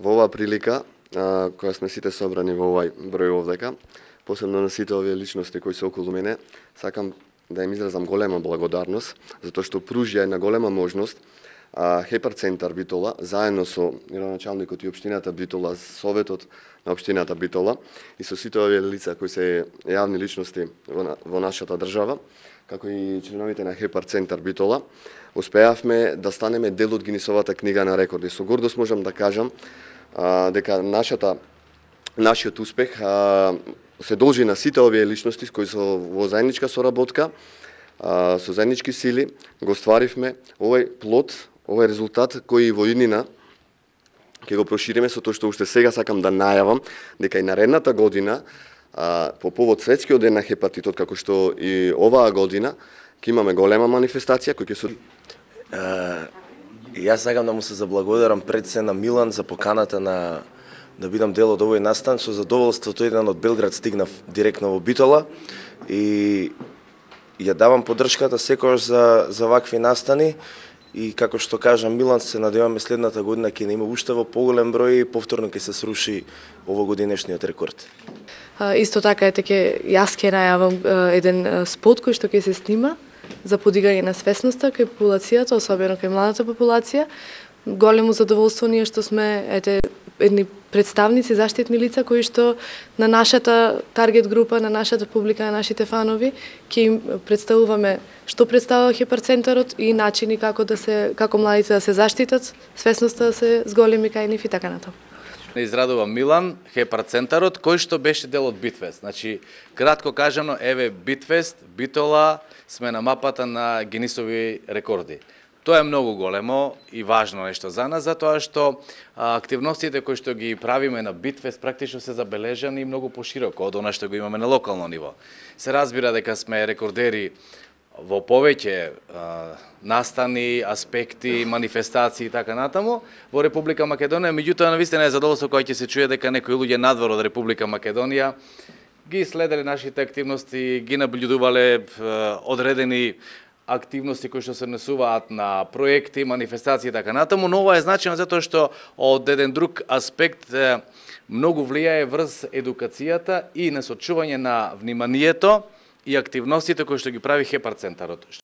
Во оваа прилика, која сме сите собрани во овај број овдека, посебно на сите овие личности кои се околу мене, сакам да им изразам голема благодарност, затоа што пружија една голема можност Хепар центар Битола, заедно со градоначалникот и општината Битола, советот на општината Битола и со сите овие лица кои се јавни личности во нашата држава, како и членовите на Хепар центар Битола, успеавме да станеме дел од Гинисовата книга на рекорди. Со гордост можам да кажам дека нашиот успех се должи на сите овие личности кои со во заедничка соработка, со заеднички сили го стваривме овој плод, овој резултат кој во иднина ќе го прошириме, со тоа што уште сега сакам да најавам дека и наредната година по повод светскиот ден на хепатитот, како што и оваа година ќе имаме голема манифестација која ќе се Јас сакам да му се заблагодарам пред се на Милан за поканата да бидам дел од овој настан. Со задоволството еден од Белград стигнав директно во Битола и ја давам поддршката секогаш за вакви настани и како што кажа Милан, се надеваме следната година ќе има уште во поголем број и повторно ќе се сруши овогодинешниот рекорд. Исто така јас ќе најавам еден спот кој што ќе се снима за подигање на свесноста кај популацијата, особено кај младата популација. Големо задоволство ние што сме едни представници, заштитни лица кои што на нашата таргет група, на нашата публика, на нашите фанови ќе им представуваме што представува Хепар центарот и начини како младите да се заштитат, свесноста да се зголеми кај нив и така натаму. Израдува Милан, Хепар центарот, кој што беше дел од Битфест. Значи, кратко кажано, еве Битфест, Битола, сме на мапата на Гинисови рекорди. Тоа е многу големо и важно нешто за нас, затоа што активностите кои што ги правиме на Битфест практично се забележани многу пошироко од она што го имаме на локално ниво. Се разбира дека сме рекордери во повеќе настани, аспекти, манифестации и така натаму во Република Македонија, меѓутоа навистина е задоволство кога ќе се чуе дека некои луѓе надвор од Република Македонија ги следеле нашите активности, ги наблюдувале одредени активности кои што се однесуваат на проекти, манифестации и така натаму, но ова е значено затоа што од еден друг аспект многу влијае врз едукацијата и насочување на вниманието и активностите кои што ги прави Хепар центарот.